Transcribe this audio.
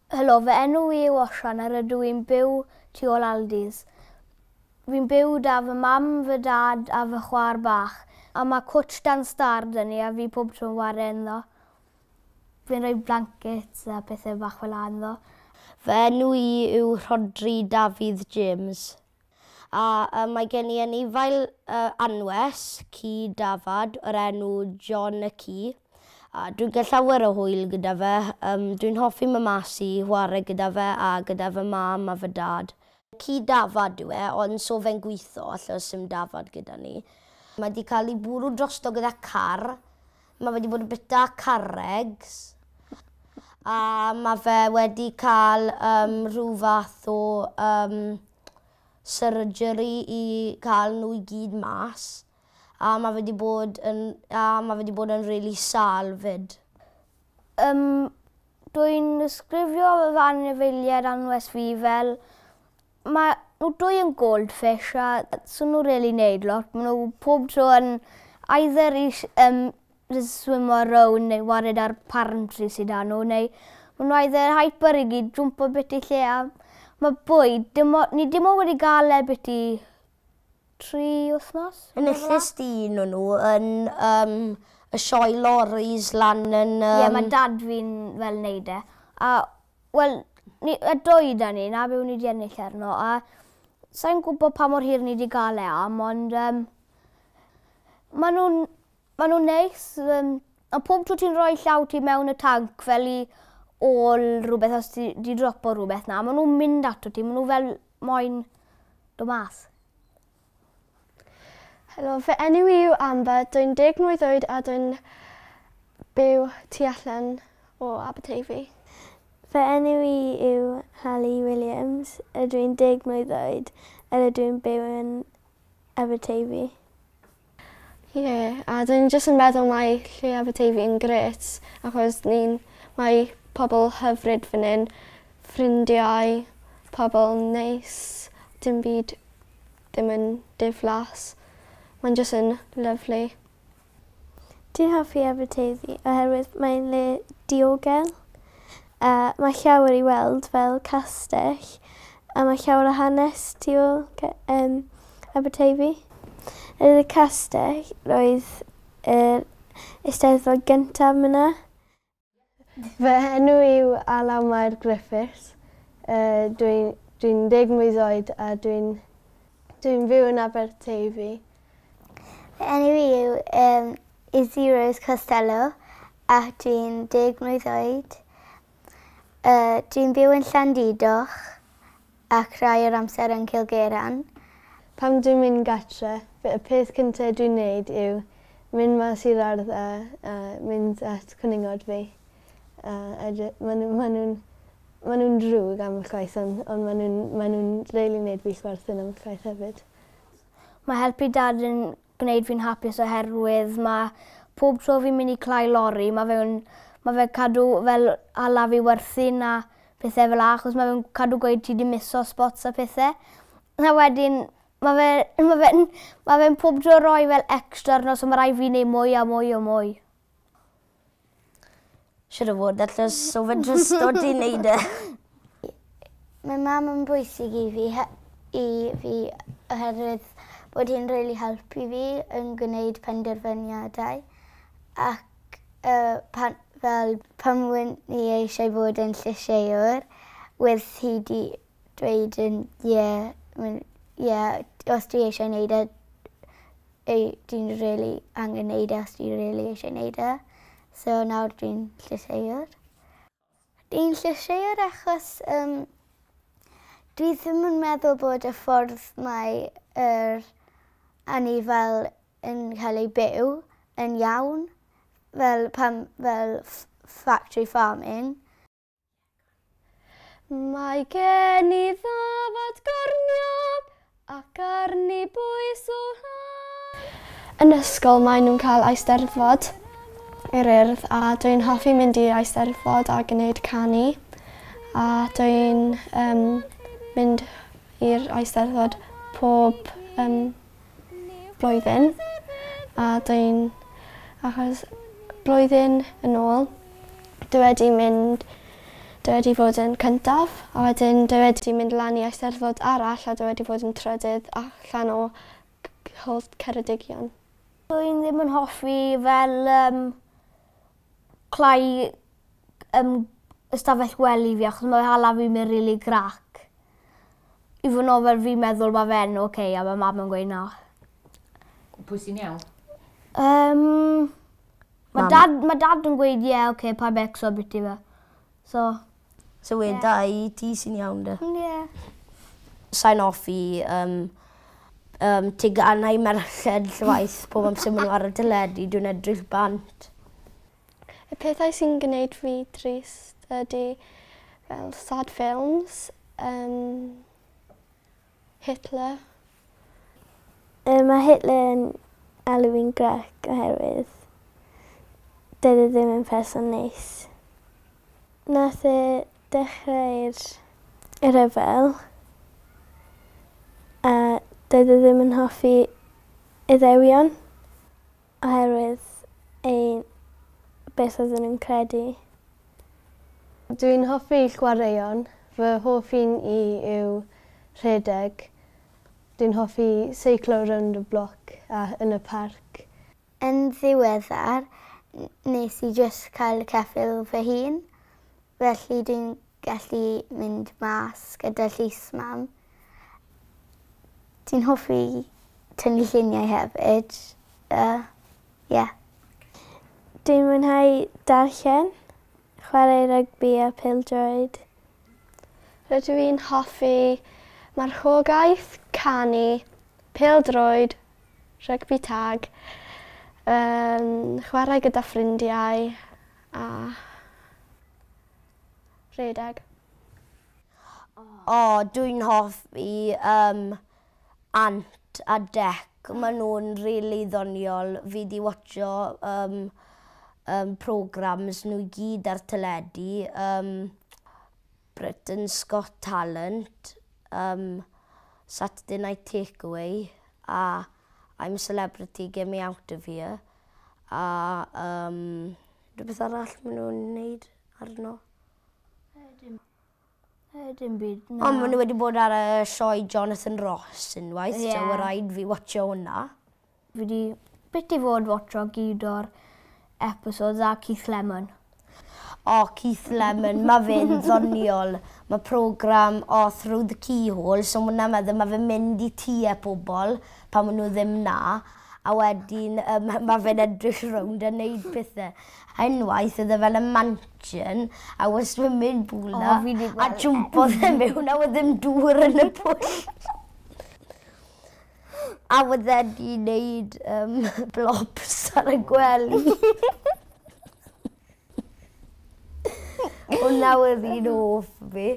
Helo, fy enw i yw Osian a rydw i'n byw tu ôl Aldi's. Fi'n byw 'da fy mam, fy dad a fy chwaer bach. A mae cwtsh dan stâr 'da ni a fi pob tro'n ware ynddo. Fi'n rhoi blankets a pethe bach fel 'a ynddo. Fy enw i yw Rhodri Dafydd James. A yy mae gen i anifail yy anwes, ci dafad, o'r enw John y ci. A dwi'n cael llawer o hwyl gyda fe. Yym dwi'n hoffi mynd mas i whare gyda fe a gyda fy mam a fy dad. Ci dafad yw e, ond so fe'n gwitho achos sim dafad gyda ni. Mae 'di cael ei bwrw drosto gyda car. Mae fe wedi bod yn bita carregs. A mae fe wedi cael yym rhyw fath o yym surgery i cael nhw i gyd mas. A ma' fe 'di bod yn a ma' fe 'di bod yn rili sâl 'fyd. Yym dwi'n ddisgrifio fy anifeiliaid anwes fi fel ma' nhw dwy yn goldfish a so nhw rili neud lot. Ma' nhw pob tro yn either i jyst swimo rownd neu wared ar palm tree sy 'da nhw neu ma' nhw either hyper i gyd jwmpo biti lle a ma' bwyd dim o- ni dim ond wedi ga'l e biti 3 wythnos? Enillais di un o nhw yn yym y sioe loris lan yn yym... Ie ma' dad fi'n fel neud e. A wel ni y dwy 'da ni 'na be' o'n i 'di ennill arno a sai'n gwbo pa mor hir ni 'di ga'l e am ond yym ma' nw'n ma' nw'n neis yym a pob tro ti'n rhoi llaw ti mewn y tanc fel i ôl rwbeth os ti 'di dropo rwbeth 'na ma' nw'n mynd ato ti ma' nw fel moyn do' mas. Helo, fy enw i yw Amber, dwi'n deg mlwydd oed a dwi'n byw tu allan o Aberteifi. Fy enw i yw Hallie Williams, ydw i'n deg mlwydd oed a rydw i'n byw yn Aberteifi. Ie, a dwi'n jyst yn meddwl mae lle Aberteifi yn grêt achos ni'n mae pobl hyfryd fan 'yn, ffrindiau, pobl neis, dim byd ddim yn diflas. Mae'n jyst yn lyfli. Dwi'n hoffi Aberteifi oherwydd mae'n le diogel a mae llawer i weld fel castell a mae llawer o hanes tu ôl yym Aberteifi. Yn y castell roedd yr Eisteddfod gyntaf myna. Fy enw yw Alaw Mair Griffiths. Yy dwi'n dwi'n deg mlwydd oed a dwi'n dwi'n fyw yn Aberteifi. Fy enw i yw yym Izzy Rose Costello a dwi'n deg mlwydd oed. Yy dwi'n byw yn Llandudoch ac rhai o'r amser yn Cilgeran. Pan dwi'n mynd gatre, y peth cynta dwi'n neud yw mynd mas i'r ardd a a mynd at cwningod fi. A edry- ma' nhw ma' nhw'n ma' nhw'n drwg ambell waith ond ond ma' nhw'n ma' nhw'n rili neud fi chwerthin ambell waith hefyd. Mae helpu dad yn gwneud fi'n hapus oherwydd ma' pob tro fi'n mynd i clai lori ma' fe'n ma' fe cadw fel hala fi werthin a pethe fel 'a achos ma' fe'n cadw gweud ti 'di miso spots a pethe. A wedyn ma' fe ma' fe'n ma' fe'n pob tro roi fel extra arno so ma' rai' fi neud mwy a mwy o mwy. Siŵr o fod achos so fe'n trysto ti neud e. Mae mam yn bwysig i fi i fi oherwydd bod hi'n rili helpu fi yn gwneud penderfyniadau ac yy pan fel pan wen i eisiau bod yn llysieuwr wedd hi 'di dweud yn ie mae'n ie os dwi eisiau neud e ei dwi'n rili angen neud e os dwi rili eisiau neud e. So nawr dwi'n llysieuwr. Dwi'n llysieuwr achos yym dwi ddim yn meddwl bod y ffordd mae yr anifail yn cael ei byw yn iawn fel pan fel factory farming. Mae gen i ddafad gorniog ac arni bwys o han. Yn ysgol maen nhw'n cael Eisteddfod yr Urdd a dwi'n hoffi mynd i Eisteddfod a gwneud canu a dwi'n um, mynd i'r Eisteddfod pob um, blwyddyn a dwi'n achos blwyddyn yn ôl dwi wedi mynd Dwi wedi fod yn cyntaf, a wedyn dwi wedi mynd lan i Eisteddfod arall a dwi wedi fod yn trydydd allan o holl Ceredigion. Dwi'n ddim yn hoffi fel clai ystafell gwely fi achos mae hala fi mynd rili grac. I fod yn ofel fi'n meddwl mae fe'n oce okay, a mae mam yn gweud na. Pwy sy'n iawn? Mae dad, ma dad yn gweud ie, yeah, oce, okay, pa becso biti fe. So weda i ti sy'n iawn de. Ie. Yeah. Sa'n hoffi teganau merched llwaith pob amser maen nhw ar y teledu, dwi'n edrych bant. Y pethau sy'n gwneud fi trist ydy fel sad films, Hitler. Mae Hitler yn alw fi'n grac oherwydd dydy e ddim yn person neis. Nath e dechrau'r rhyfel a doedd e ddim yn hoffi Iddewion oherwydd ein beth oedden nhw'n credu. Dwi'n hoffi chwaraeon. Fy hoff un i yw rhedeg. Dwi'n hoffi seiclo rownd y bloc a yn y parc. Yn ddiweddar, nes i just cael ceffyl fy hun. Felly dwi'n gallu mynd mas gyda llys mam. Dwi'n hoffi tynnu lluniau hefyd. Yeah. Dwi'n mwynhau darllen, chwarae rygbi a pêl-droed. Rydw i'n hoffi marchogaeth, canu, pêl-droed, rygbi tag, chwarae gyda ffrindiau a rhedeg. O, dwi'n hoffi Ant a Dec. Maen nhw'n rili ddoniol. Fi di watcho programs nhw i gyd ar teledu. Britain's Got Talent, Saturday Night Takeaway a I'm a Celebrity, Get Me Out of Here. A rhywbeth arall maen nhw'n wneud arno. Dim byd. Na. Ond maen nhw wedi bod ar y sioe Jonathan Ross unwaith, so mae rhaid fi watcho hwnna. Fi wedi bit i fod watcho gyd o'r episodes a Keith Lemon. O, Keith Lemon, mae fe'n ddoniol. Mae program o Through the Keyhole, so mwna meddwl mae fe'n mynd i tŷ e pobl pan maen nhw ddim na. A wedyn mae fe'n edrych rownd a neud pethau. A unwaith oedd e fel y mansion a was swimming pool na. O, fi 'di A gweld e. jwmpodd e mewn a oedd ddim dŵr yn y pwll. A oedd e 'di wneud blobs ar y gwely. Hwnna oedd un hoff fi.